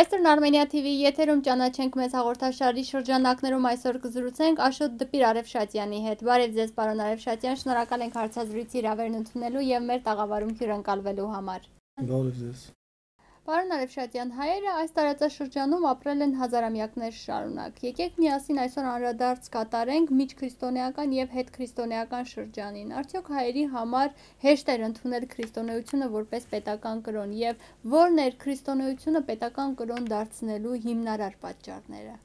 Western Armenia TV եթերում ճանաչենք մեզ հաղորդաշարի շրջանակներում այսօր կզրուցենք Աշոտ Դպիր Արևշատյանի հետ։ Բարև ձեզ, պարոն Արևշատյան, շնորհակալ ենք հարցազրույցի հրավերն ընդունելու եւ մեր տաղավարում հյուրընկալվելու համար։ Բարև ձեզ։ Պարոն Արևշատյան, հայերը այս տարածաշրջանում ապրել են հազարամյակներ շարունակ։ Եկեք միասին այսօր անդրադարձ կատարենք միջքրիստոնեական եւ հետքրիստոնեական շրջանին։ Արդյոք հայերի համար հեշտ էր ընդունել քրիստոնեությունը որպես պետական կրոն եւ ո՞րն էր քրիստոնեությունը պետական կրոն դարձնելու հիմնարար պատճառները։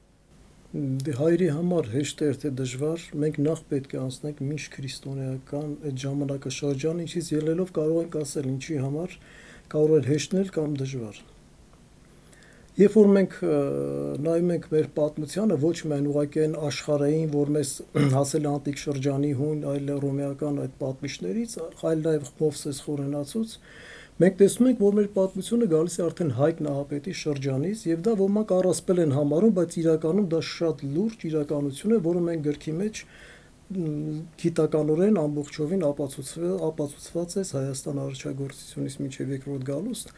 Հայերի համար հեշտ էր թե դժվար, մենք նախ պետք է անցնենք միջքրիստոնեական այդ ժամանակաշրջան, ինչից ելնելով կարող ենք ասել ինչի համար կարող էր հեշտնել կամ դժվար։ Երբ որ մենք նայում ենք մեր պատմությանը, ոչ միայն ուղղակի այն աշխարհային, որ մեզ հասել է անտիկ շրջանի հույն, այլ ռոմեական այդ պատմիչներից, այլ նաև Մովսես խորենացուց, մենք տեսնում ենք, որ մեր պատմությունը գալիս է արդեն Հայկ Նահապետի շրջանից, եւ դա ոմանք առասպել են համարում, բայց իրականում դա շատ լուրջ իրականություն է, որը մենք գրքի մեջ գիտականորեն ամբողջովին ապացուցված է Հայաստան առաջագործությունից մինչև երկրորդ գալուստ։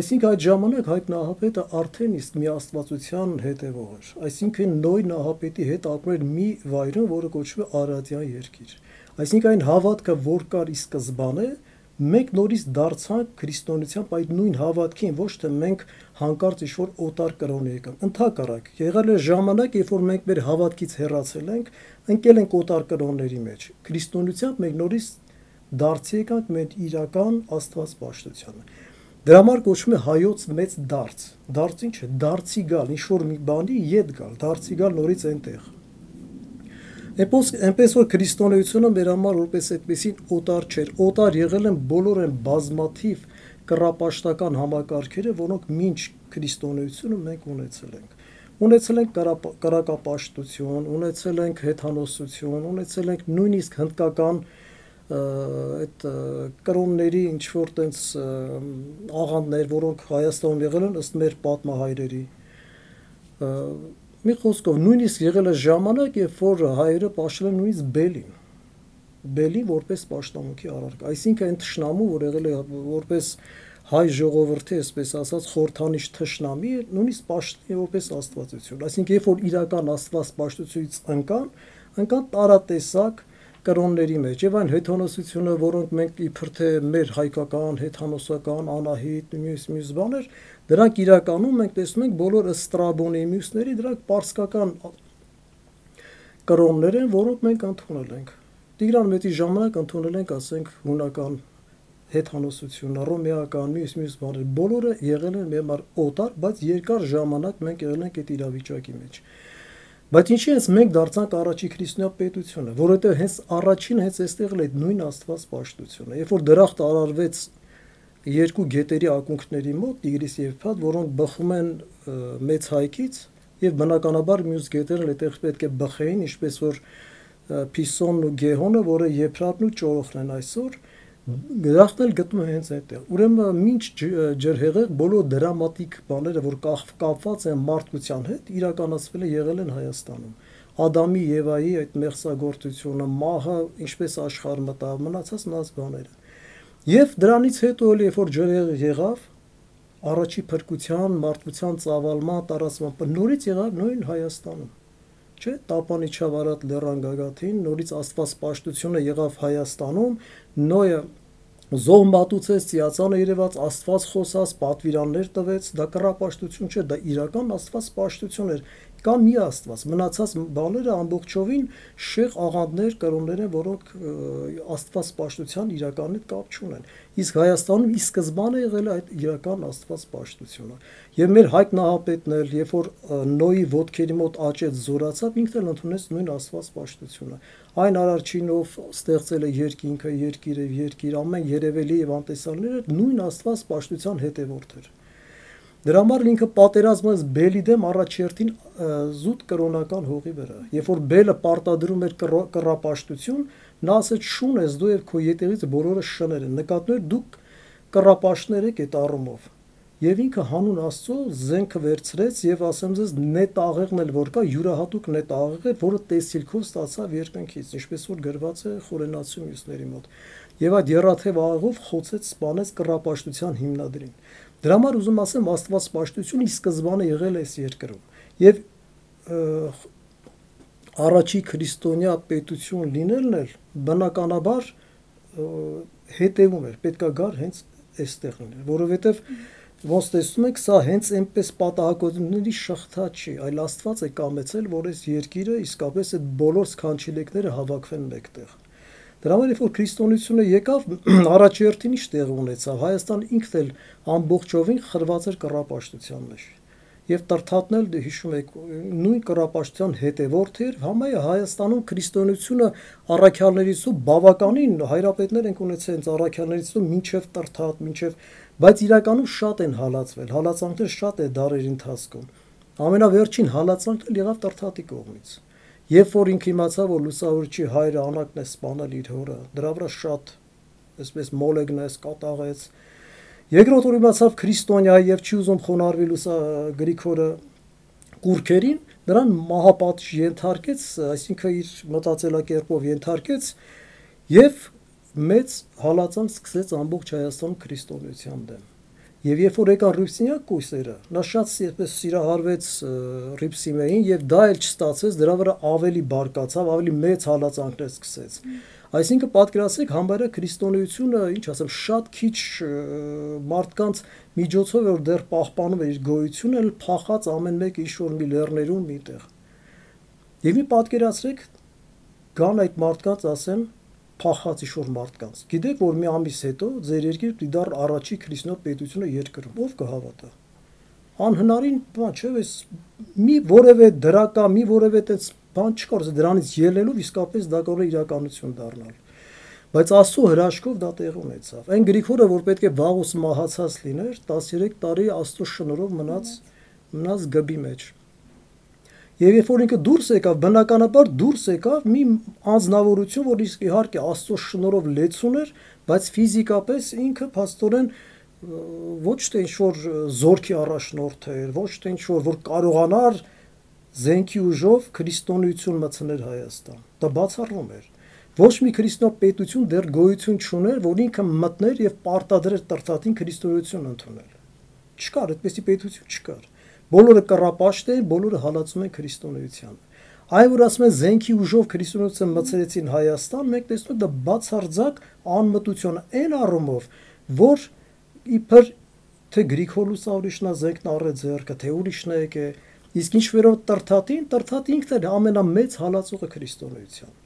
Այսինքն այդ ժամանակ Հայկ Նահապետը արդեն իսկ մի աստվածության հետևող էր։ Այսինքն Նոյ Նահապետի հետ ապրում էր մի վայրում, որը կոչվում է Արարատյան երկիր։ Այսինքն այն հավատքը, որ կար ի սկզբանե, մենք նորից դարձանք քրիստոնեությամբ այդ նույն հավատքին, ոչ թե մենք հանկարծ ինչ-որ օտար կրոն եկանք։ Ընդհակառակ, եղել է ժամանակ, երբ որ մենք մեր հավատքից հեռացել ենք, ընկել ենք օտար կրոնների մեջ։ Քրիստոնեությամբ մենք նորից դարձի եկանք մեր իրական Աստված պաշտությանը։ Դրա համար կոչվում է հայոց մեծ դարձ։ Դարձ ինչ է։ Դարձի գալ, ինչ-որ մի բանի ետ գալ, դարձի գալ նորից այնտեղ։ Այնպես որ քրիստոնեությունը մեր համար որպես այդպեսին օտար չէր։ Օտար եղել են բոլոր այն բազմաթիվ կռապաշտական համակարգերը, որոնք մինչ քրիստոնեությունը մենք ունեցել ենք։ Ունեցել ենք կրակապաշտություն, ունեցել ենք հեթանոսություն, ունեցել ենք նույնիսկ հնդկական այդ կրոնների ինչ որ տենց աղանդներ, որոնք Հայաստանում եղել են ըստ մեր պատմահայրերի։ Մի խոսքով նույնիսկ եղել է ժամանակ, երբ որ հայերը պաշտել են նույնիսկ Բելին որպես պաշտամունքի առարկա։ Այսինքն այն թշնամու, որ եղել է որպես հայ ժողովրդի, այսպես ասած, խորհրդանիշ թշնամի, նույնիսկ պաշտել է որպես աստվածություն։ Այսինքն երբ որ իրական աստված պաշտությունից ընկան տարատեսակ կրոնների մեջ եւ այն հեթանոսությունը, որոնք մենք իբր թե մեր հայկական, հեթանոսական, անահիտ, մյուս բաներ, դրանք իրականում մենք տեսնում ենք բոլոր Ստրաբոնի մյուսների, դրանք պարսկական կրոններ են, որոնք մենք ընդունել ենք։ Տիգրան Մեծի ժամանակ ընդունել ենք, ասենք, հունական հեթանոսությունը, ռոմեական, մյուս բաներ, բոլորը եղել են մեր համար օտար, բայց երկար ժամանակ մենք եղել ենք այդ իրավիճակի մեջ։ Բայց ինչի հենց մենք դարձանք առաջի քրիստոնյա պետությունը, որովհետև հենց առաջին հենց այստեղ էլ այդ նույն Աստված պաշտությունը, երբ որ դրախտ արարվեց երկու գետերի ակունքների մոտ, Տիգրիս եւ Եփրատ, որոնք բխում են Մեծ Հայքից, եւ բնականաբար մյուս գետերն էլ այդտեղ պետք է բխեին, ինչպես որ Փիսոնն ու Գեհոնը, որը Եփրատն ու Ճորոխն են այսօր, դրախտն էլ գտնում են հենց այդտեղ։ Ուրեմն մինչ ջրհեղեղ բոլոր դրամատիկ բաները, որ կապված են մարդկության հետ, իրականացվել է եղել են Հայաստանում։ Ադամի Եվայի այդ մեղսագործությունը, մահը, ինչպես աշխարհ մտավ, մնաց բաները։ Եվ դրանից հետո էլ երբ որ ջրհեղեղ եղավ, առաջի փրկության, մարդկության ծավալման, տարածման, նորից եղավ նույն Հայաստանում։ Չէ, Տապանիչավ Արարատ լեռան գագաթին, նորից Աստված պաշտությունը եղավ Հայաստանում, Նոյը զոհ մատուցեց, ծիածանը երևաց, Աստված խոսած, պատվիրաններ տվեց, դա կռապաշտություն չէ, դա իրական Աստված պաշտություն էր, կա մի Աստված, մնացած բաները ամբողջովին շեղ աղանդներ, կրոններ են, որոնք Աստված պաշտության իրական հետ կապ չունեն։ Իսկ Հայաստանում ի սկզբանե եղել է այդ իրական Աստված պաշտությունը։ Եվ մեր Հայկ Նահապետն էլ, երբ որ Նոյի ոտքերի մոտ աճեց, զորացավ, ինքն էլ ընդունեց նույն Աստված պաշտությունը։ Այն արարչինով ստեղծել է երկինքը, երկիր, ամեն երևելի եւ անտեսանները նույն Աստված պաշտության հետևորդ էր։ Դրա համար ինքը պատերազմեց Բելի դեմ առաջերտին զուտ կրոնական հողի վրա։ Երբ որ Բելը պարտադրում էր կռապաշտություն, նա ասեց՝ շուն ես դու եւ քո ետեղից բոլորը շներ են։ Նկատներ դուք կռապաշտներ եք այդ առումով։ Եվ ինքը հանուն Աստծո զենքը վերցրեց եւ ասեմ ձեզ նետաղեղն էլ որ կա յուրահատուկ նետաղեղ էր, որը տեսիլքով ստացավ երկնքից, ինչպես որ գրված է Խորենացու մյուսների մոտ։ Եվ այդ եռաթև աղեղով խոցեց, սպանեց կռապաշտության հիմնադրին։ Դրա համար ուզում ասեմ, աստվածպաշտությունը ի սկզբանե եղել է այս երկրում։ Եվ առաջի քրիստոնյա պետություն լինելն էլ բնականաբար հետևում էր, պետքա գար հենց այստեղ լինել, որովհետև ոնց տեսնում եք, սա հենց այնպես պատահականությունների շղթա չի, այլ Աստված է կամեցել, որ այս երկիրը իսկապես այդ բոլոր սքանչելիքները հավաքվեն մեկտեղ։ Դրա համար երբ որ քրիստոնեությունը եկավ, առաջերտին ինչ տեղ ունեցավ, Հայաստանը ինքն էլ ամբողջովին խրված էր կռապաշտության մեջ։ Եվ Տրթատն էլ հիշում եք, նույն կռապաշտության հետևորդ էր, համայնը Հայաստանում քրիստոնեությունը առաքյալներից ու բավականին հայրապետներ են ունեցել առաքյալներից ու մինչև Տրթատ, մինչև, բայց իրականում շատ են հալածվել, հալածանքներ շատ է դարերի ընթացքում։ Ամենավերջին հալածանքն էլ եղավ Տրթատի կողմից։ Երբ որ ինքը իմացավ, որ լուսավորչի հայրը Անակն է սպանել իր հորը, դրա վրա շատ այսպես մոլեգնես կատաղեց։ Երկրորդ որ իմացավ քրիստոնյա եւ չի ուզում խոնարհվի Գրիգորը կուրքերին, նրան մահապատիժ ենթարկեց, այսինքն իր մտածելակերպով ենթարկեց եւ մեծ հալածանք սկսեց ամբողջ Հայաստանում քրիստոնեության դեմ։ Եվ երբ որ եկան Ռիփսիմեակ կույսերը, նա շատ այսպես սիրահարվեց Ռիփսիմեին եւ դա էլ չստացվեց, դրա վրա ավելի բարկացավ, ավելի մեծ հալածանքներ սկսեց։ Այսինքն պատկերացրեք համարյա քրիստոնեությունը, ինչ ասեմ, շատ քիչ մարդկանց միջոցով որ դեռ պահպանում էր իր գոյությունը, էլ փախած ամեն մեկը ինչ-որ մի լեռներում միտեղ։ Եվ մի պատկերացրեք, գան այդ մարդկանց ասեն փախած ինչ-որ մարդկանց։ Գիտեք, որ մի ամիս հետո ձեր երկիրը դիդար առաջի քրիստոնյա պետությունը երկրում, ով կհավատա։ Անհնարին բան չէ, այս մի որևէ դրական, մի որևէ այդպես բան չկար, դրանից ելնելով իսկապես դա կարող է իրականություն դառնալ։ Բայց Աստծո հրաշքով դա տեղ ունեցավ։ Այն Գրիգորը, որ պետք է վաղուց մահացած լիներ, 13 տարի Աստծո շնորհով մնաց գբի մեջ։ Եվ երբ որ ինքը դուրս եկավ, բնականաբար դուրս եկավ մի անձնավորություն, որ իհարկե Աստծո շնորհով լեցուն էր, բայց ֆիզիկապես ինքը փաստորեն ոչ թե ինչ-որ զորքի առաջնորդ էր, ոչ թե ինչ-որ որ կարողանար զենքի ուժով քրիստոնեություն մտցնել Հայաստան։ Դա բացառվում էր։ Ոչ մի քրիստոնյա պետություն դեռ գոյություն չուներ, որ ինքը մտներ եւ պարտադրեր Տրթատին քրիստոնեություն ընդունել։ Չկար, այդպեսի պետություն չկար։ Բոլորը կռապաշտ էին, բոլորը հալածում են քրիստոնեությանը։ Այ որ ասում են զենքի ուժով քրիստոնեություն մտցրեցին Հայաստան, մենք տեսնում ենք դա բացարձակ անմտություն այն առումով, որ իբր թե Գրիգոր Լուսավորիչն է զենքն առել ձեռքը, թե ուրիշն է եկե, իսկ ինչ վերաբերում Տրթատին, Տրթատը ինքն էր ամենամեծ հալածողը քրիստոնեության։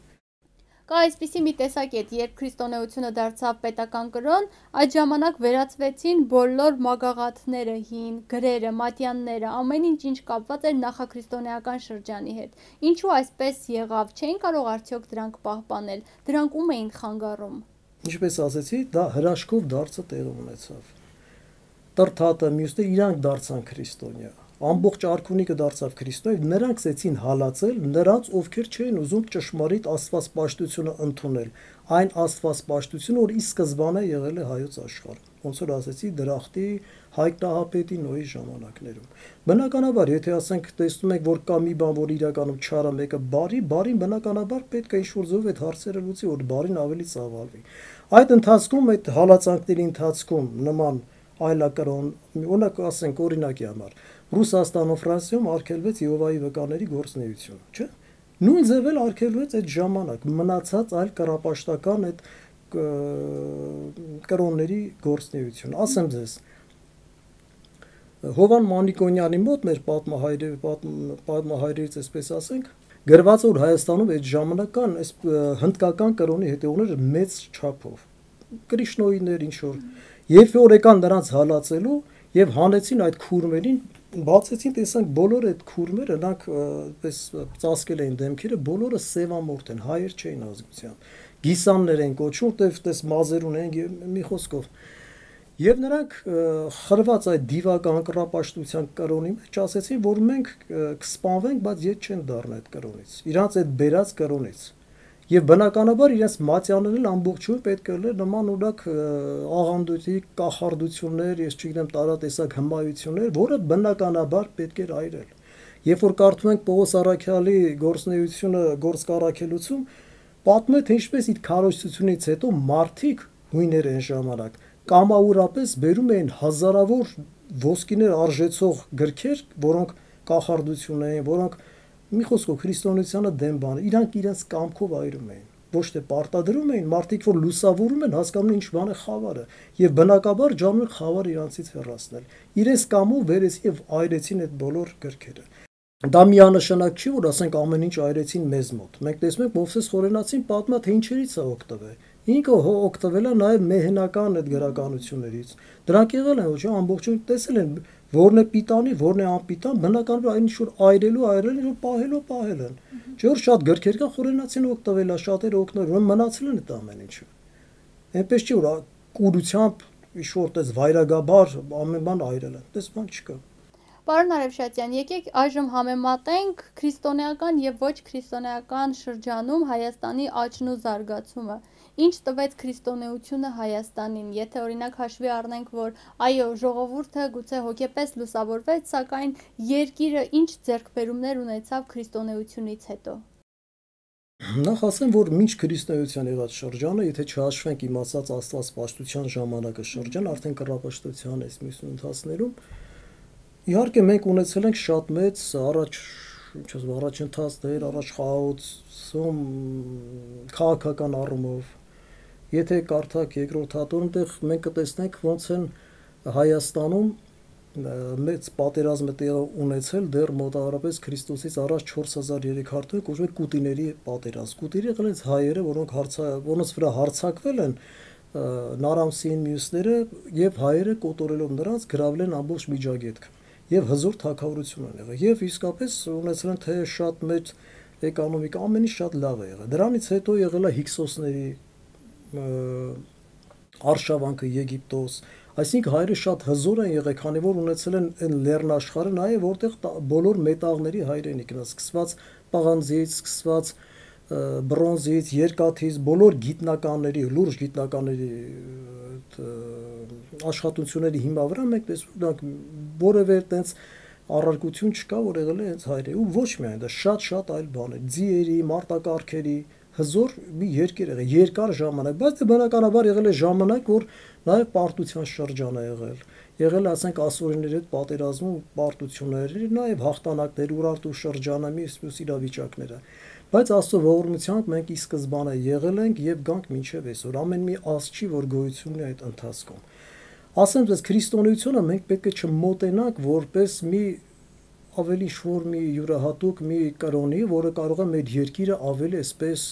Կա այսպիսի մի տեսակետ, երբ քրիստոնեությունը դարձավ պետական կրոն, այդ ժամանակ վերածվեցին բոլոր մագաղաթները, հին, գրերը, մատյանները, ամեն ինչ կապված էր նախաքրիստոնեական շրջանի հետ։ Ինչու այսպես եղավ, չէին կարող արդյոք դրանք պահպանել, դրանք ում էին խանգարում։ Ինչպես ասեցի, դա հրաշքով դարձը տեղ ունեցավ։ Տրթատը, մյուսները իրանք դարձան քրիստոնյա։ Ամբողջ արքունիքը դարձավ քրիստոնյա, նրանք ցեցին հալածել նրանց, ովքեր չէին ուզում ճշմարիտ աստվածպաշտությունը ընդունել, այն աստվածպաշտությունը, որ ի սկզբանե եղել է հայոց աշխարհում, ոնց որ ասեցի Դրախտի, Հայկ Նահապետի Նոյի ժամանակներում։ Բնականաբար, եթե ասենք տեսնում եք, որ կա մի բան, որ իրականում չարը մեկը բարին բնականաբար պետք է ինչ-որ ձև այդ հարցերը լուծի, որ բարին ավելի ծավալվի։ Այդ ընթացքում, այդ հալածանքների ընթացքում նման այլակրոն, օրինակ ասենք օրինակի համար Ռուսաստանում, Ֆրանսիայում արգելվեց Եհովայի վկաների գործունեությունը, չէ՞։ Նույն ձև էլ արգելվեց այդ ժամանակ մնացած այլ կռապաշտական այդ կրոնների գործունեությունը։ Ասեմ ձեզ, Հովան Մանիկոնյանի մոտ մեր պատմահայրերից այսպես ասենք, գրված որ Հայաստանում այդ ժամանակ կան այս հնդկական կրոնի հետևողներ մեծ չափով, Կրիշնոյիներ ինչ որ, երբ որ եկան նրանց հալածելու եւ հանեցին այդ քուրմերին, բացեցին, տեսանք բոլոր այդ քուրմերը, նրանք այդպես ծածկել էին դեմքերը, բոլորը սևամորթ են, հայեր չէին ազգության, գիսաններ են կոչում, որտեղ մազեր ունեն, մի խոսքով։ Եվ նրանք խրված այդ դիվական կռապաշտության կրոնի մեջ ասեցին, որ մենք կսպանվենք, բայց ետ չեն դառնա այդ կրոնից, իրանց այդ բերած կրոնից։ Եվ բնականաբար իրենց մատյաներն ամբողջովին պետք է լիներ նման օրակ աղանդույթի կախարդություններ, ես չգիտեմ տարատեսակ հմայություններ, որը բնականաբար պետք էր այրել։ Երբ որ կարդում ենք Պողոս Առաքյալի գործնեությունը, գործկառաքելություն, պատմում է թե ինչպես իր քարոզությունից հետո մարդիկ հույներ են ժամանակ կամաուրապես բերում էին հազարավոր ոսկիներ արժեցող գրքեր, որոնք կախարդություն էին, որոնք մի խոսքով քրիստոնեությանը դեմ բան, իրանք իրենց կամքով այրում էին, ոչ թե պարտադրում էին, մարդիկ որ լուսավորում են, հասկանում են ինչ բան է խավարը, եւ բնակաբար ջանում են խավարը իրանցից հեռացնել, իրենց կամով վերեցին եւ այրեցին այդ բոլոր գրքերը։ Դա միանշանակ չի, որ ասենք ամեն ինչ այրեցին մեզ մոտ։ Մենք տեսնում ենք Մովսես Խորենացին պատմա, թե ինչերից է օգտվել։ Ինքը օգտվել է նաև մեհենական այդ գրականություններից։ Դրանք եղել են, ոչ ամբողջովին տեսել են, որն է պիտանի, որն է անպիտան, բնականաբար այն ինչ որ այրել են, պահել են։ Չէ՞ որ շատ գրքեր կան Խորենացին օգտվել է, շատերը օգտվել, որ մնացել են այդ ամեն ինչը։ Այնպես չի որ կուրությամբ ինչ-որ տես վայրագաբար ամեն բան այրել են։ Տես բան չկա։ Պարոն Արևշատյան, եկեք այժմ համեմատենք քրիստոնեական եւ ոչ քրիստոնեական շրջանում Հայաստանի աճն ու զարգացումը։ Ինչ տվեց քրիստոնեությունը Հայաստանին, եթե օրինակ հաշվի առնենք, որ այո, ժողովուրդը գուցե հոգեպես լուսավորվեց, սակայն երկիրը ինչ ձեռքբերումներ ունեցավ քրիստոնեությունից հետո։ Նախ ասեմ, որ մինչ քրիստոնեության եղած շրջանը, եթե չհաշվենք իմ ասած աստվածպաշտության ժամանակը շրջան, արդեն կռապաշտության այս մյուս ընթացներում իհարկե մենք ունեցել ենք շատ մեծ առաջընթացներ, առաջխաղացում քաղաքական առումով։ Եթե կարդաք երկրորդ հատորը, այնտեղ մենք կտեսնենք ոնց են Հայաստանում մեծ պատերազմ ունեցել դեռ մոտավորապես Քրիստոսից առաջ 4300 կոչվում է Կուտիների պատերազմ։ Կուտիրը եղել են հայերը, որոնց վրա հարձակվել են Նարամսին մյուսները եւ հայերը կոտորելով նրանց գրավել են ամբողջ Միջագետքը եւ հզոր թագավորություն են եղել եւ իսկապես ունեցել են թե շատ մեծ էկոնոմիկա, ամեն ինչ շատ լավ է եղել։ Դրանից հետո եղել է Հիկսոսների արշավանքը Եգիպտոս, այսինքն հայերը շատ հզոր են եղել, քանի որ ունեցել են այն լեռնաշխարհը նաև որտեղ բոլոր մետաղների հայրենիքն է, սկսված պաղանձից, սկսված բրոնզից, երկաթից, բոլոր գիտնականների, լուրջ գիտնականների աշխատությունների հիմա վրա մենք տեսնում ենք որևէ այդպես առարկություն չկա, որ եղել է հենց հայրենի ու ոչ միայն դա շատ այլ բաներ, ձիերի, մարտակառքերի հզոր մի երկիր եղել, երկար ժամանակ, բայց դե բնականաբար եղել է ժամանակ, որ նաև պարտության շրջան է եղել ասենք ասորիների հետ պատերազմում պարտությունների, նաև հաղթանակներ, Ուրարտու շրջանը, մյուս իրավիճակները, բայց Աստծո ողորմությամբ մենք ի սկզբանե եղել ենք եւ գանք մինչեւ այսօր, ամեն մի ազգ չի, որ գոյություն ունի այդ ընթացքում։ Ասեմ ձեզ, քրիստոնեությունը մենք պետք է չմոտենանք որպես մի ավելի շուր մի յուրահատուկ մի կրոնի, որը կարող է մեր երկիրը ավելի այսպես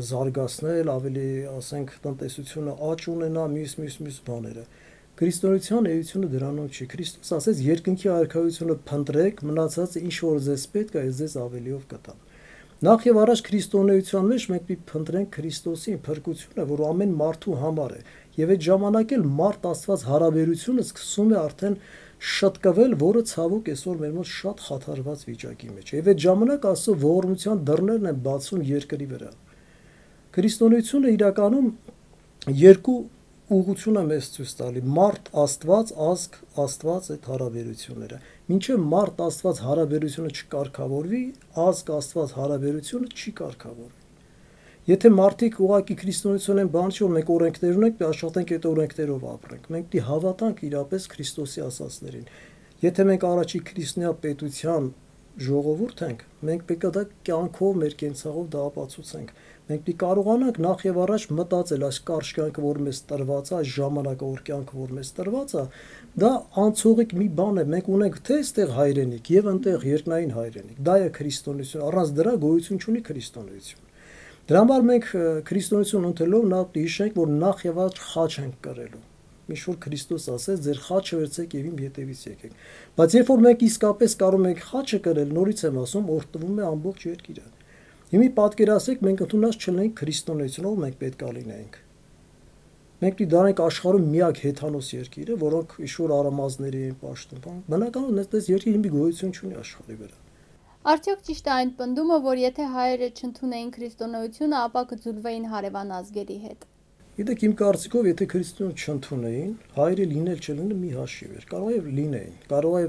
զարգացնել, ավելի, ասենք, տնտեսությունը աճ ունենա, մյուս բաները։ Քրիստոնեության էությունը դրանում չի։ Քրիստոս ասեց, երկնքի արքայությունը փնտրեք, մնացածը ինչ որ ձեզ պետք է, ձեզ ավելիով կտամ։ Նախ եւ առաջ քրիստոնեության մեջ մենք պիտի փնտրենք Քրիստոսի փրկությունը, որ ամեն մարդու համար է, եւ այդ ժամանակ էլ մարդ Աստված հարաբերությունը սկսում է արդեն շտկվել, որը ցավոք այսօր մեր մոտ շատ խաթարված վիճակի մեջ է։ Եվ այդ ժամանակ Աստծո ողորմության դռներն են բացում երկրի վրա։ Քրիստոնեությունը իրականում երկու ուղղություն է մեզ ցույց տալի՝ մարդ Աստված, ազգ Աստված այդ հարաբերությունները։ Մինչև մարդ Աստված հարաբերությունը չկարգավորվի, ազգ Աստված հարաբերությունը չի կարգավորվի։ Եթե մարդիկ ուղղակի քրիստոնեություն են բան չի, որ մենք օրենքներ ունենք, աշխատենք այդ օրենքներով ապրենք։ Մենք պիտի հավատանք իրապես Քրիստոսի ասածներին։ Եթե մենք առաջի քրիստոնյա պետության ժողովուրդ ենք, մենք պետք է դա կյանքով, մեր կենցաղով դա ապացուցենք։ Մենք պիտի կարողանանք նախ եւ առաջ մտածել այս կարճ կյանքը, որ մեզ տրված է, այս ժամանակավոր կյանքը, որ մեզ տրված է, դա անցողիկ մի բան է։ Մենք ունենք թե այստեղ հայրենիք եւ այնտեղ երկնային հայրենիք։ Դա է քրիստոնեություն։ Առանց դրա գոյություն չունի քրիստոնեություն։ Դրա համար մենք քրիստոնեություն ունենալով նա հիշենք, որ նախ եւ առաջ խաչ ենք կրելու։ Ինչ որ Քրիստոս ասեց, ձեր խաչը վերցեք եւ իմ ետևից եկեք։ Բայց երբ որ մենք իսկապես կարող ենք խաչը կրել, նորից եմ ասում, օրհնվում է ամբողջ երկիրը։ Հիմա պատկերացրեք, մենք ընդունած չլինենք քրիստոնեությունով, մենք պետք է լինենք։ Մենք պիտի դառնանք աշխարհում միակ հեթանոս երկիրը, որոնք իշուր արամազների են պաշտում։ Բնականաբար այդպես երկիր մի գոյություն չունի աշխարհի վրա։ Արդյոք ճիշտ է այն պնդումը, որ եթե հայերը չընդունեին քրիստոնեությունը, ապա կձուլվեին հարևան ազգերի հետ։ Գիտեք, իմ կարծիքով, եթե քրիստոնեություն չընդունեին, հայերը լինել չլինել մի հաշիվ էր։ Կարող է լինեին, կարող է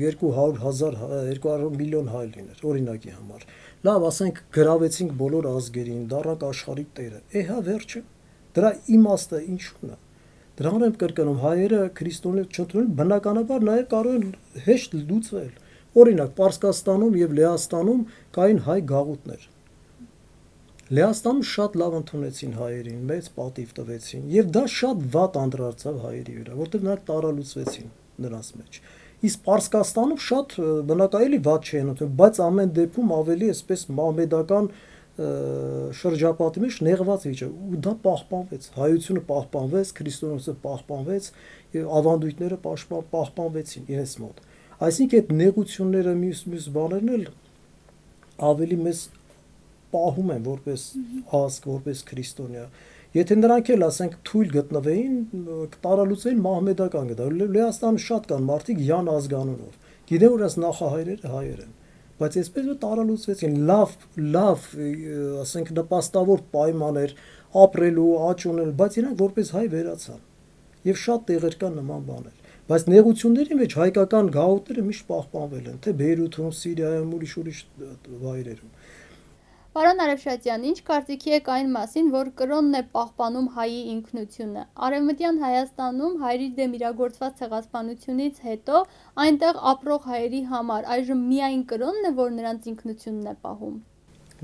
200,000, 200 միլիոն հայ լիներ, օրինակի համար։ Լավ, ասենք, գրավեցինք բոլոր ազգերին, դառնանք աշխարհի տերը։ Էհա վերջը։ Դրա իմաստը ինչու՞ն է։ Դրանով եմ կրկնում, հայերը քրիստոնյա չընդունել, բնականաբար նաև կարող են հեշտ լուծվել։ Օրինակ, Պարսկաստանում եւ Լեհաստանում կային հայ գաղութներ։ Լեհաստանում շատ լավ ընդունեցին հայերին, մեծ պատիվ տվեցին, եւ դա շատ վատ անդրադարձավ հայերի վրա, որտեղ նրանք տարալուծվեցին նրանց մեջ։ Իսկ Պարսկաստանում շատ բնակայելի վատ չէին ընդունել, բայց ամեն դեպքում ավելի այսպես մահմեդական շրջապատի մեջ նեղված վիճակ, ու դա պահպանվեց, հայությունը պահպանվեց, քրիստոնեությունը պահպանվեց, եւ ավանդույթները պահպանվեցին իրենց մոտ։ Այսինքն այդ նեղությունները մյուս բաներն էլ ավելի մեծ պահում են որպես ազգ, որպես քրիստոնյա։ Եթե նրանք էլ ասենք թույլ գտնվեին, տարալուծեին մահմեդական գտա։ Լեհաստանում շատ կան մարդիկ յան ազգանունով։ Գիտեն որ այս նախահայրերը հայեր են, բայց այսպես որ տարալուծվեցին, լավ, ասենք նպաստավոր պայմաններ ապրելու, աճ ունենալու, բայց իրանք որպես հայ վերացան։ Եվ շատ տեղեր կան նման բաներ։ Բայց նեղությունների մեջ հայկական գաղութները միշտ պահպանվել են, թե Բեյրութում, Սիրիայում, ուրիշ վայրերում։ Պարոն Արեւշատյան, ինչ կարծիքի եք այն մասին, որ կրոնն է պահպանում հայի ինքնությունը։ Արևմտյան Հայաստանում հայերի դեմ իրագործված ցեղասպանությունից հետո այնտեղ ապրող հայերի համար այժմ միայն կրոնն է, որ նրանց ինքնությունն է պահում։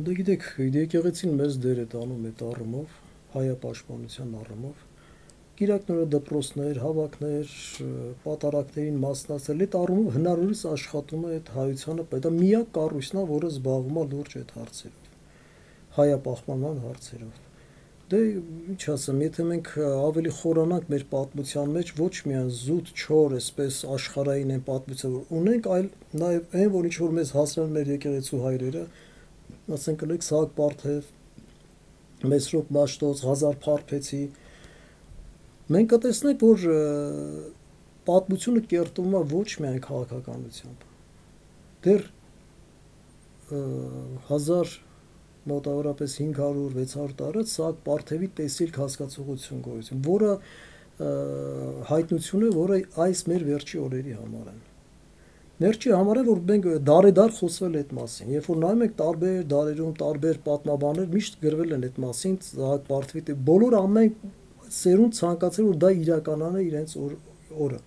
Դե գիտեք, եկեղեցին մեծ դեր է տանում այդ առումով, հայապաշտպանության առումով։ Գիրակները դպրոցներ, հավաքներ, պատարակներին մասնակցել, այդ առումով հնարավորինս աշխատում է այդ հայությանը, դա միակ կառույցն է, որը զբաղվում է լուրջ այդ հարցերով, հայապահպանման հարցերով։ Դե ինչ ասեմ, եթե մենք ավելի խորանանք մեր պատմության մեջ, ոչ միայն զուտ չոր, այսպես աշխարհային են պատմություն ունենք, այլ նաև այն, որ ինչ որ մեզ հասրան մեր եկեղեցու հայրերը, ասենք կլեք Սահակ Պարթև, Մեսրոպ Մաշտոց, Ղազար Փարփեցի, մենք կտեսնենք, որ պատմությունը կերտվում է ոչ միայն քաղաքականությամբ։ Դեռ 1000 մոտավորապես 500-600 տարի Սահակ Պարթևի տեսիլք հասկացողություն գոյություն, որը հայտնություն է, որը այս մեր վերջի օրերի համար են։ Վերջի համար է, որ մենք դարեդար խոսվել այդ մասին, երբ որ նայում ենք տարբեր դարերում, տարբեր պատմաբաններ միշտ գրվել են այդ մասին, Սահակ Պարթևի բոլոր ամեն սերունդ ցանկացել որ դա իրականանա իրենց օրը։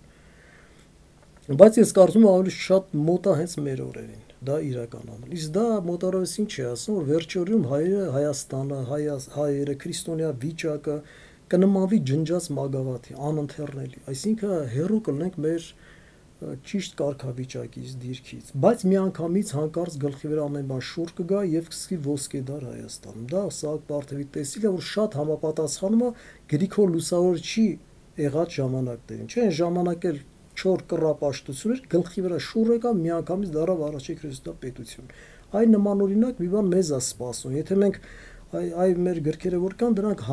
Բայց ես կարծում եմ ավելի շատ մոտ է հենց մեր օրերին դա իրականանալ։ Իսկ դա մոտավորապես ինչ է ասում, որ վերջի օրերում հայերը, Հայաստանը, հայերը, քրիստոնյա վիճակը կնմանվի ջնջած մագավաթի, անընթեռնելի։ Այսինքն հեռու կլինենք մեր ճիշտ կարգավիճակից, դիրքից, բայց միանգամից հանկարծ գլխի վրա ամեն բան շուռ կգա եւ կսկի ոսկեդար Հայաստանում։ Դա Սահակ Պարթևի տեսիլը, որ շատ համապատասխանում է Գրիգոր Լուսավորչի եղած ժամանակներին։ Չէ, այն ժամանակ էլ չոր կռապաշտություն էր, գլխի վրա շուռ եկա, միանգամից դարավ առաջի քրիստոնյա պետություն։ Այն նմանօրինակ մի բան մեզ է սպասում։ Եթե մենք այ մեր գրքերը որ կան, դրանք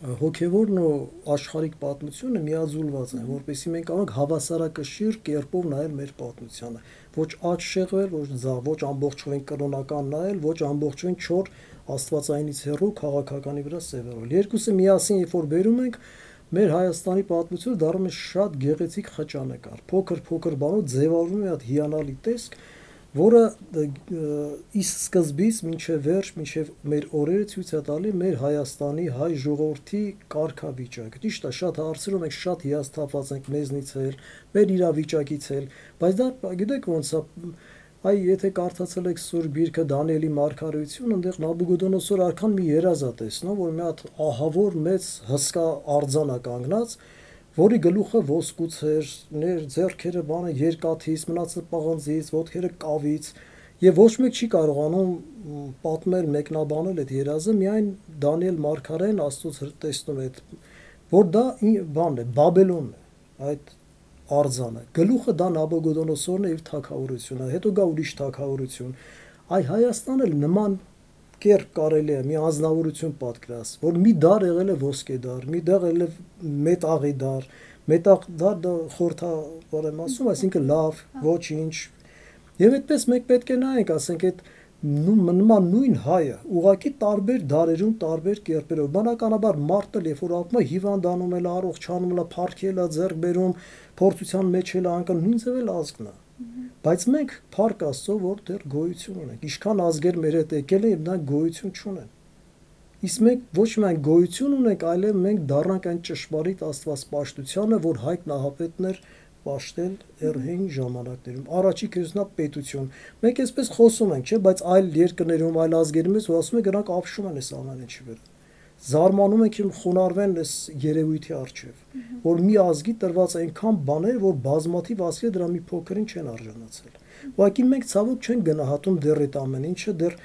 հոգևորն ու աշխարհիկ պատմությունը միաձուլված են, որպեսզի մենք կարող հավասարակշիռ կերպով նայել մեր պատմությանը, ոչ աճ շեղվել, ոչ ձախ, ոչ ամբողջովին կրոնական նայել, ոչ ամբողջովին չոր աստվածայինից հեռու քաղաքականի վրա սևեռել։ Երկուսը միասին երբ որ բերում ենք, մեր Հայաստանի պատմությունը դառնում է շատ գեղեցիկ խճանկար, փոքր բանով ձևավորվում է այդ հիանալի տեսք, որը իսկ սկզբից մինչև վերջ, մինչև մեր օրերը ցույց է տալի մեր Հայաստանի հայ ժողովրդի կարգավիճակը։ Ճիշտ է, շատ հարցերով մենք շատ հիասթափված ենք մեզնից էլ, մեր իրավիճակից էլ, բայց դա գիտեք ոնց է, այ եթե կարդացել եք Սուրբ Գիրքը Դանիելի մարգարեությունը, այնտեղ Նաբուգոդոնոսոր արքան մի երազ է տեսնում, որ մի հատ ահավոր մեծ հսկա արձան է կանգնած, որի գլուխը ոսկուց էր, ձեռքերը բանը երկաթից, մնացած պղնձից, ոտքերը կավից, եւ ոչ մեկ չի կարողանում պատմել, մեկնաբանել այդ երազը, միայն Դանիել մարգարեն Աստծոց տեսնում է, որ դա բանն է, Բաբելոնն է, այդ արձանը։ Գլուխը դա Նաբուգոդոնոսորն է իր թագավորությունը, հետո գա ուրիշ թագավորություն։ Այ Հայաստանը նման կերպ կարելի է մի անձնավորություն պատկերացնել, որ մի դար եղել է ոսկեդար, մի դար եղել է մետաղի դար, մետաղ դա խորթավոր եմ ասում, այսինքն լավ, ոչինչ։ Եվ այդպես մենք պետք է նայենք, ասենք այդ նման նույն հայը, ուղղակի տարբեր դարերում, տարբեր կերպերով, բնականաբար մարդը, երբ որ ապրում է, հիվանդանում է, առողջանում է, փառքել է, ձեռք բերում, փորձության մեջ էլ անկան, նույն ձև էլ ազգն է։ Բայց մենք փառք Աստծո, որ դեռ գոյություն ունենք։ Ինչքան ազգեր մեր հետ եկել են, եւ նրանք գոյություն չունեն։ Իսկ մենք ոչ միայն գոյություն ունենք, այլև մենք դառնանք այն ճշմարիտ աստվածպաշտությանը, որ Հայկ Նահապետն էր պաշտել Էրհեին ժամանակներում, առաջի քրիստոնյա մենք այսպես խոսում ենք, չէ, բայց այլ երկրներում, այլ ազգերում ես, որ ասում են գրանք ապշում են այս ամեն ինչի վրա։ Զարմանում ենք իմ խոնարհվեն այս երևույթի առջև, որ մի ազգի տրված այնքան բաներ, որ բազմաթիվ ազգեր դրա մի փոքրին չեն արժանացել։ Ուղղակի մենք ցավոք չենք գնահատում դեռ այդ ամեն ինչը, դեռ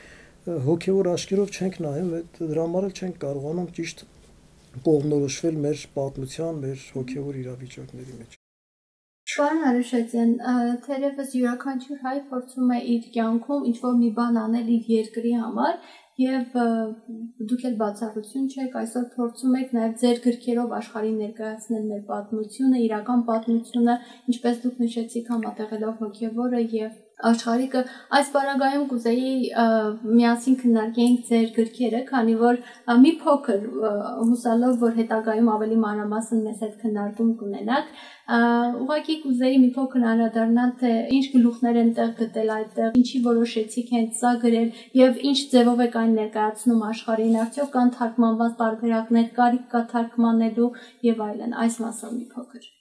հոգևոր աչքերով չենք նայում, դրա համար էլ չենք կարողանում ճիշտ կողմնորոշվել մեր պատմության, մեր հոգևոր իրավիճակների մեջ։ Պարոն Արուշացյան, թերևս յուրաքանչյուր հայ փորձում է իր կյանքում ինչ-որ մի բան անել իր երկրի համար եւ դուք էլ բացառություն չեք, այսօր փորձում եք նաեւ ձեր գրքերով աշխարհին ներկայացնել մեր պատմությունը, իրական պատմությունը, ինչպես դուք նշեցիք, համատեղելով հոգևորը եւ աշխարհիկը։ Այս բaragայում կուզեի միասին քննարկենք ձեր գրքերը, քանի որ մի փոքր հուսալով, որ հետագայում ավելի մանրամասն մեզ հետ քննարկում կունենաք, ուղղակի կուզեի մի փոքր անդրադառնալ, թե ինչ գլուխներ են տեղ գտել այդտեղ, ինչի որոշեցիք հենց սա գրել եւ ինչ ձևով եք այն ներկայացնում աշխարհին, արդյոք կան թարգմանված տարբերակներ, կարիք կա թարգմանելու եւ այլն, այս մասով մի փոքր։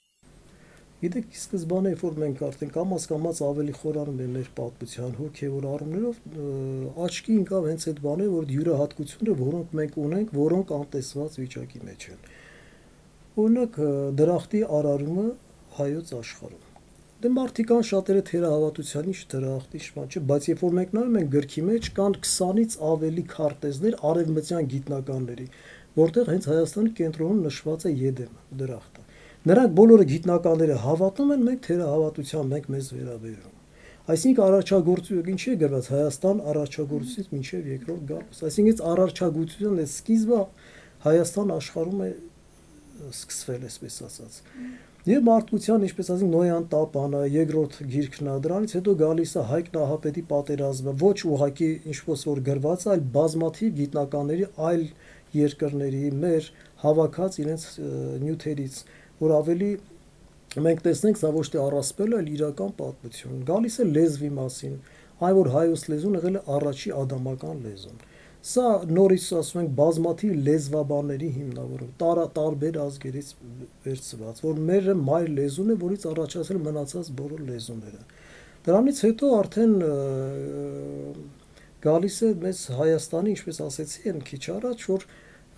Գիտեք, ի սկզբանե, որ մենք արդեն կամաց ավելի խորանում ենք մեր պատմության հոգևոր առումներով, աչքի ընկավ հենց այդ բանը, որ յուրահատկությունները, որոնք մենք ունենք, որոնք անտեսված վիճակի մեջ են։ Օրինակ, դրախտի արարումը հայոց աշխարհում։ Դե մարդիկ կան շատերը թերահավատության ինչ դրախտի շման չէ, բայց երբ որ մենք նայում ենք գրքի մեջ, կան 20-ից ավելի քարտեզներ արևմտյան գիտնականների, որտեղ հենց Հայաստանի կենտրոնում նշված է Եդեմ դրախտը։ Նրանք բոլորը գիտնականները հավատում են, մենք թերահավատությամբ ենք մեզ վերաբերում։ Այսինքն առաջագործություն ինչի է գրված Հայաստան առաջագործությունից մինչև երկրորդ գալուս։ Այսինքն առաջագործության այս սկիզբը Հայաստան աշխարհում է սկսվել, այսպես ասած։ Եվ մարդկության, ինչպես ասենք, Նոյան տապանը, երկրորդ գիրքն է, դրանից հետո գալիս է Հայկ Նահապետի պատերազմը, ոչ ուղղակի ինչպես որ գրված է, այլ բազմաթիվ գիտնականների այլ երկրների մեր հավաքած իրենց նյութերից, որ ավելի մենք տեսնենք, սա ոչ թե առասպել է, այլ իրական պատմություն։ Գալիս է լեզվի մասին, այն որ հայոց լեզուն եղել է առաջի ադամական լեզուն։ Սա նորից ասում ենք բազմաթիվ լեզվաբանների հիմնավորում, տարբեր ազգերից վերցված, որ մեր մայր լեզուն է, որից առաջացել մնացած բոլոր լեզուները։ Դրանից հետո արդեն գալիս է մեզ Հայաստանի, ինչպես ասեցի են քիչ առաջ, որ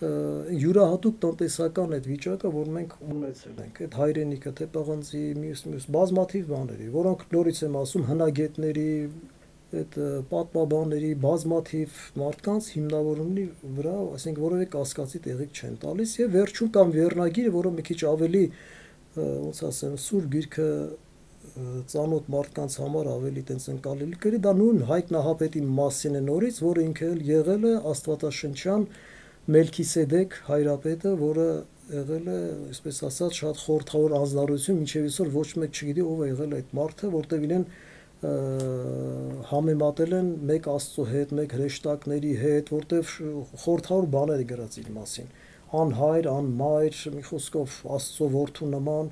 յուրահատուկ տնտեսական այդ վիճակը, որ մենք ունեցել ենք, այդ հայրենիքը, թե պղնձի, մյուս բազմաթիվ բաների, որոնք նորից եմ ասում հնագետների, այդ պատմաբանների, բազմաթիվ մարդկանց հիմնավորումի վրա, ասենք որևէ կասկածի տեղիք չեն տալիս եւ վերջում կամ վերնագիրը, որը մի քիչ ավելի ոնց ասեմ, սուր գիրքը ծանոթ մարդկանց համար ավելի տենց ընկալելի կրի, դա նույն Հայկ Նահապետի մասին է նորից, որը ինքը եղել է աստվածաշնչյան Մելքիսեդեկ հայրապետը, որը եղել է, այսպես ասած, շատ խորհրդավոր անձնարարություն, մինչև այսօր ոչ մեկ չգիտի ով է եղել այդ մարդը, որտեղ իրեն համեմատել են մեկ Աստծո հետ, մեկ հրեշտակների հետ, որտեղ խորհրդավոր բաներ է գրած իր մասին, անհայր, անմայր, մի խոսքով Աստծո որդու նման,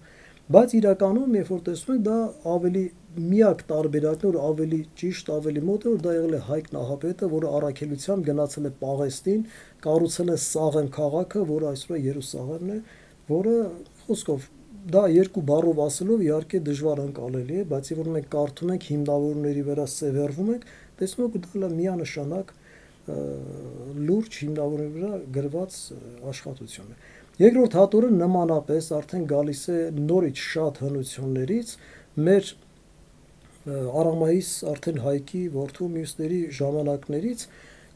բայց իրականում, երբ որ տեսնում եք, դա ավելի միակ տարբերակն է, ավելի ճիշտ, ավելի մոտ է, որ դա եղել է Հայկ Նահապետը, որը առաքելությամբ գնացել է Պաղեստին, կառուցել է Սաղեմ քաղաքը, որը այսօր Երուսաղեմն է, որը խոսքով դա երկու բառով ասելով իհարկե դժվար ընկալելի է, բայց երբ որ մենք կարդում ենք հիմնավորումների վրա սևեռվում ենք, տեսնում եք դա միանշանակ լուրջ հիմնավորումների վրա գրված աշխատություն է։ Երկրորդ հատորը նմանապես արդեն գալիս է նորից շատ հնություններից մեր Արամայիս արդեն Հայկի որդու մյուսների ժամանակներից,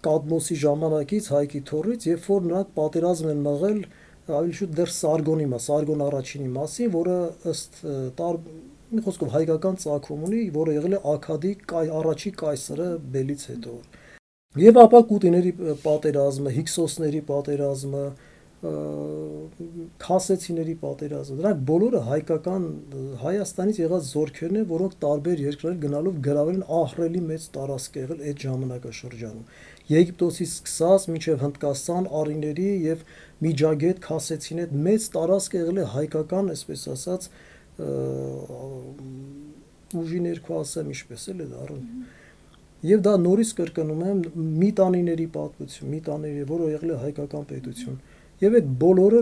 Կադմոսի ժամանակից, Հայկի թոռից, երբ որ նրանք պատերազմ են մղել ավելի շուտ դեռ Սարգոն առաջինի մասին, որը ըստ մի խոսքով հայկական ծագում ունի, որը եղել է Աքադի առաջի կայսրը Բելից հետո։ Եվ ապա Կուտիների պատերազմը, Հիքսոսների պատերազմը, Քասեցիների պատերազմը, դրանք բոլորը հայկական Հայաստանից եղած զորքերն են, որոնք տարբեր երկրներ գնալով գրավել են ահռելի մեծ տարածք եղել այդ ժամանակաշրջանում։ Եգիպտոսից սկսած մինչև Հնդկաստան, Արիների եւ Միջագետ Քասեցին այդ մեծ տարածք եղել է հայկական, այսպես ասած, ուժի ներքո ասեմ, ինչպես էլ է դառնում։ Եվ դա նորից կրկնում եմ միտանիների պատմություն, միտաների, որը եղել է հայկական պետություն։ Եվ այդ բոլորը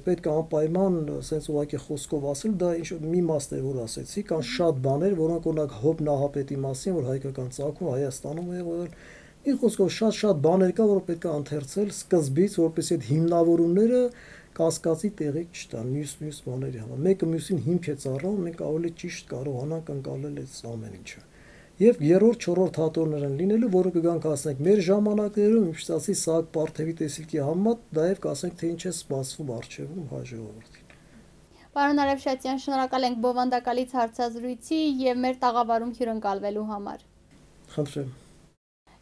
պետք է անպայման sense ուղղակի խոսքով ասել, դա ինչ մի մասն է, որ ասեցի, կան շատ բաներ, որոնք օրինակ Հոբ Նահապետի մասին, որ հայկական ծագում Հայաստանում է եղել։ Մի խոսքով շատ բաներ կա, որ պետք է ընթերցել սկզբից, որպեսզի այդ հիմնավորումները կասկածի տեղի չտան մյուս բաների համար։ Մեկը մյուսին հիմք է ծառայում, մենք ավելի ճիշտ կարողանանք անցնել այդ ամեն ինչը։ Եվ երրորդ, չորրորդ հատորներ են լինելու, որը կգանք ասենք մեր ժամանակներում, ինչպես ասի Սահակ Պարթևի տեսիլքի համեմատ, նաև կասենք թե ինչ է սպասվում առջևում հայ ժողովրդին։ Պարոն Արևշատյան, շնորհակալ ենք բովանդակալից հարցազրույցի եւ մեր տաղավարում հյուրընկալվելու համար։ Խնդրեմ։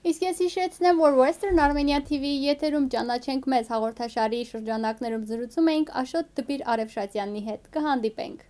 Իսկ ես հիշեցնեմ, որ Western Armenia TV-ի եթերում ճանաչենք մեզ հաղորդաշարի շրջանակներում զրուցում էինք Աշոտ Տպիր Արևշատյանի հետ։ Կհանդիպենք։